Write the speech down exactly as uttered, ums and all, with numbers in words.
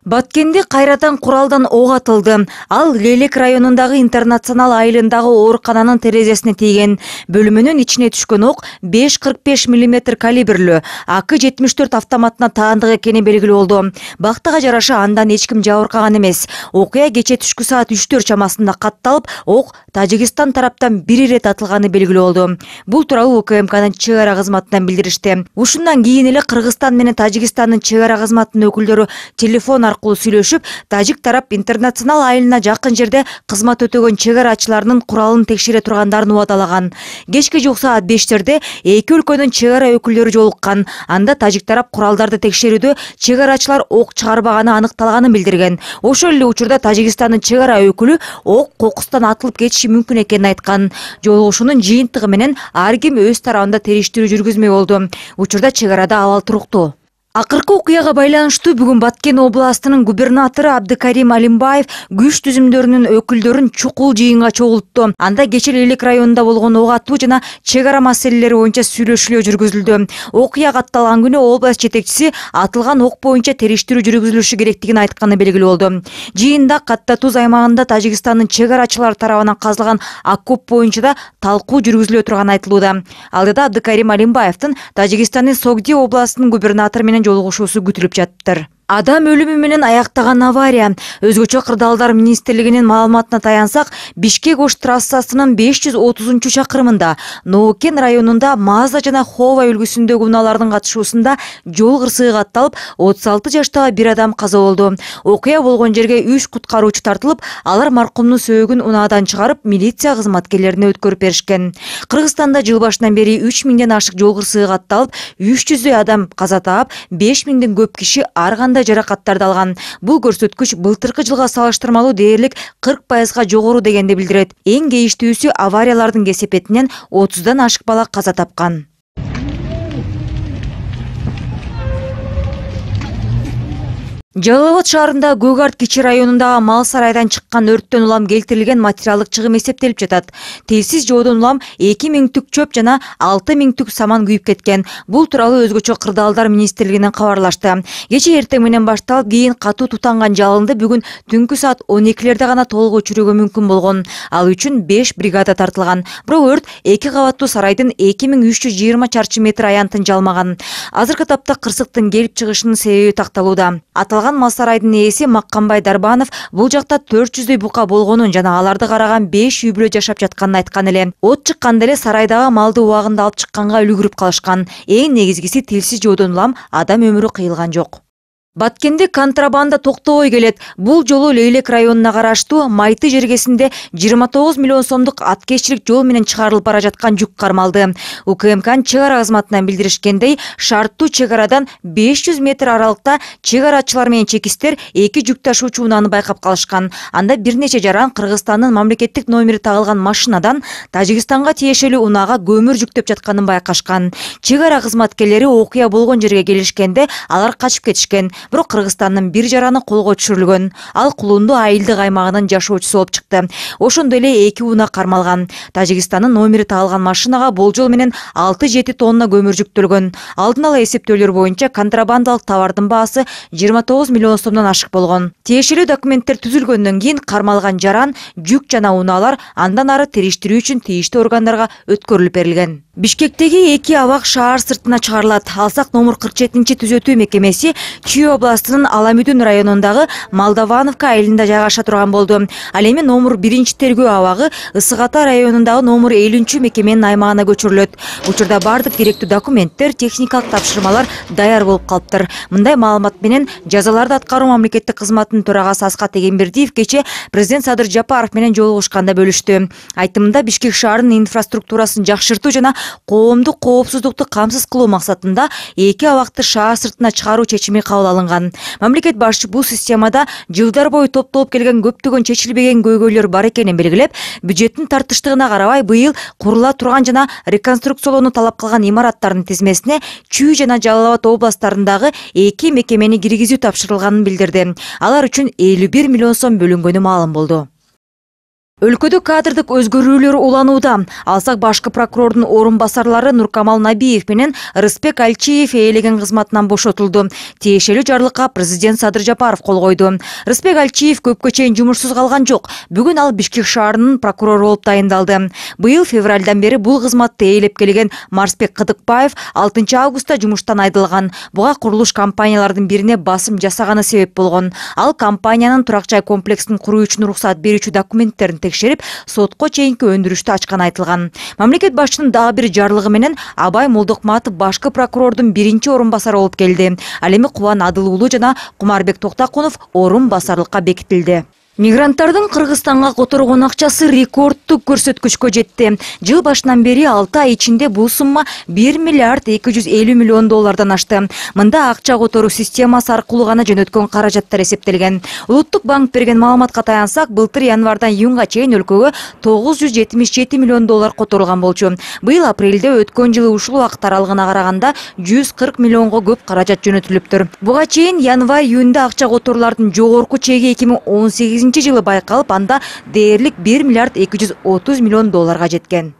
Баткенде кайрадан куралдан ок атылды. Ал Лейлек районундагы Интернационал айылындагы оорукананын терезесине тийген. Бөлүмүнүн ичине түшкөн ок беш кырк беш миллиметр калибрлүү А К жетимиш төрт автоматына таандык экени белгилүү болду. Бактыга жараша андан эч ким жабыркаган эмес. Окуя кече түшкү саат үчтөр чамасында катталып, ок Тажикстан тараптан бир ирет атылганы белгилүү болду. Бул тууралуу У К М Кнын чек ара кызматынан билдиришти. Ушундан кийин эле Кыргызстан менен Тажикстандын чек ара кызматынын өкүлдөрү телефон аркылуу сүйлөшүп, тажик тарап Интернационал айылына жакын жерде кызмат өтөгөн чек арачыларынын куралын текшере тургандарын убадалаган. Кечке жок саат бештерде эки өлкөнүн чек ара өкүлдөрү жолуккан. Анда тажик тарап куралдарды текшерүүдө чек арачылар ок чыгарбаганы аныкталганын билдирген. Ошол эле учурда Тажикстандын чек ара өкүлү ок кокустан атылып кетиши мүмкүн экенин айткан. Жолугушуунун жыйынтыгы менен ар ким өз тарабында териштирүү жүргүзмөй болду. Учурда чек арада абал туруктуу. Акыркы окуяга байланыштуу бүгүн Баткен областынын губернатору Абдыкарим Алимбаев күч түзүмдөрүнүн өкүлдөрүн чукул жыйынга чогултту. Анда кече Лейлек районунда болгон ок атуу жана чек ара маселелери боюнча сүйлөшүүлөр жүргүзүлдү. Окуя катталган күнү область жетекчиси атылган ок боюнча териштирүү жүргүзүлүшү керектигин айтканы белгилүү болду. Жыйында Катта Туз аймагында Тажикстандын чек арачылары тарабынан казылган окоп боюнча да талкуу жүргүзүлө турганы айтылууда. Алдыда Абдыкарим Алимбаевдин Тажикстандын Согди областынын губернатору менен жолугушуусу күтүлүп жаттыр. Адам өлүмү менен аяктаган авария. Өзгөчө кырдаалдар министрлигинин маалыматына таянсак, Бишкек-Ош трассасынын беш жүз отузунчу чакырымында Ноукен районунда Мазда жана Хова үлгүсүндөгү унаалардын катышуусунда жол кырсыгы катталып, отуз алты жаштагы бир адам каза болду. Окуя болгон жерге үч куткаруучу тартылып, алар маркумдун сөөгүн унаадан чыгарып, милиция кызматкерлерине өткөрүп беришкен. Кыргызстанда жыл башынан бери үч миңден ашык жол кырсыгы катталып, үч жүздөй адам каза таап, беш миңден көп киши ар жаракаттарды алган. Бул көрсөткүч былтыркы жылга салыштырмалуу дээрлик кырк пайызга жогору дегенди билдирет. Эң кейиштүүсү авариялардын кесепетинен отуздан ашык бала каза тапкан. Жалал Абад шаарында Көк Арт кичи районундагы мал сарайдан чыккан өрттөн улам келтирилген материалдык чыгым эсептелип жатат. Телсиз жоодон улам эки миң түк чөп жана алты миң түк саман күйүп кеткен. Бул тууралуу өзгөчө кырдаалдар министрлигинен кабарлашты. Кече эртең менен башталып, кийин катуу тутанган жалынды бүгүн түнкү саат он экилерде гана толук өчүрүүгө мүмкүн болгон. Ал үчүн беш бригада тартылган. Бирок өрт эки кабаттуу сарайдын эки миң үч жүз жыйырма чарчы метр аянтын жалмаган. Азыркы тапта кырсыктын келип чыгышынын себеби такталууда. Мал сарайдын ээси Маккамбай Дарбанов бул жакта төрт жүздөй бука болгонун жана аларды караган беш үй бүлө жашап жатканын айткан эле. От чыкканда эле сарайдагы малды убагында алып чыкканга үлгүрүп калышкан. Эң негизгиси телсиз жоодон улам адам өмүрү кыйылган жок. Баткенде контрабанда токтобой келет. Бул жолу Лейлек районуна караштуу Майты жергесинде жыйырма тогуз миллион сомдук аткечилик жол менен чыгарылып бара жаткан жүк кармалды. У К М Кнын чек ара кызматынан билдиришкендей, шарттуу чек арадан беш жүз метр аралыкта чек арачылар менен чекистер эки жүк ташуучу унааны байкап калышкан. Анда бир нече жаран Кыргызстандын мамлекеттик номери тагылган машинадан Тажикстанга тиешелүү унаага көмүр жүктөп жатканын байкашкан. Чек ара кызматкерлери окуя болгон жерге келишкенде алар качып кетишкен. Бирок Кыргызстандын бир жараны колго түшүрүлгөн. Ал Кулунду айылдык аймагынын жашоочусу болуп чыкты. Ошондой эле эки унаа кармалган. Тажикстандын номери тагылган машинага болжол менен алты жети тонна көмүр жүктөлгөн. Алдын ала эсептөөлөр боюнча контрабандалык товардын баасы жыйырма тогуз миллион сомдон ашык болгон. Тиешелүү документтер түзүлгөндөн кийин кармалган жаран, жүк жана унаалар андан ары териштирүү үчүн тийиштүү органдарга өткөрүлүп берилген. Бишкектеги эки абак шаар сыртына чыгарылат. Алсак номер кырк жетинчи түзөтүү мекемеси Чүй областынын Аламүдүн районундагы Молдовановка айылында жайгаша турган болду. Ал эми номер биринчи тергөө абагы Ысык Ата районундагы номер элүүнчү мекеменин аймагына көчүрүлөт. Учурда бардык керектүү документтер, техникалык тапшырмалар даяр болуп калыптыр. Мындай маалымат менен жазаларды аткаруу мамлекеттик кызматынын төрагасы Аскат Эгембердиев кече президент Садыр Жапаров менен жолугушканда бөлүштү. Айтымында Бишкек шаарынын инфраструктурасын жакшыртуу жана коомдук коопсуздукту камсыз кылуу максатында эки абакты шаар сыртына чыгаруу чечими кабыл алынган. Мамлекет башчы бул системада жылдар бою топтолуп келген көптөгөн чечилбеген көйгөйлөр бар экенин белгилеп, бюджеттин тартыштыгына карабай быйыл курула турган жана реконструкциялоону талап кылган имараттардын тизмесине Чүй жана Жалал Абад областтарындагы эки мекемени киргизүү тапшырылганын билдирди. Алар үчүн элүү бир миллион сом бөлүнгөнү маалым болду. Өлкөдө кадрдык өзгөрүүлөр уланууда. Алсак башкы прокурордун орун басарлары Нуркамал Набиев менен Рыспек Алчиев ээлеген кызматынан бошотулду. Тиешелүү жарлыкка президент Садыр Жапаров кол койду. Рыспек Алчиев көпкө чейин жумушсуз калган жок. Бүгүн ал Бишкек шаарынын прокурору болуп тайындалды. Быйыл февралдан бери бул кызматты ээлеп келген Марсбек Кыдыкбаев алтынчы августта жумуштан айдылган. Буга курулуш компаниялардын бирине басым жасаганы себеп болгон. Ал компаниянын турак жай комплексин куруу үчүн уруксат берүүчү документтерин текшерип, сотко чейинки өндүрүштү ачканы айтылган. Мамлекет башчынын дагы бир жарлыгы менен Абай Молдокматов башкы прокурордун биринчи орун басары болуп келди. Ал эми Кубан Адыл уулу жана Кумарбек Токтакунов орун басарлыкка бекитилди. Мигранттардын Кыргызстанга которгон акчасы рекордтук көрсөткүчкө жетти. Жыл башынан бери алты ай ичинде бул сумма бир миллиард эки жүз элүү миллион доллардан ашты. Мында акча которуу системасы аркылуу гана жөнөткөн каражаттар эсептелген. Улуттук банк берген маалыматка таянсак, былтыр январдан июнга чейин өлкөгө тогуз жүз жетимиш жети миллион доллар которулган болчу. Быйыл апрелде өткөн жылы ушул убакыт аралыгына караганда жүз кырк миллионго көп каражат жөнөтүлүптүр. Буга чейин январь-июнда акча которуулардын жогорку чеги эки миң он сегизинчи жылы байкалып, анда дээрлик бир миллиард эки жүз отуз миллион долларга жеткен.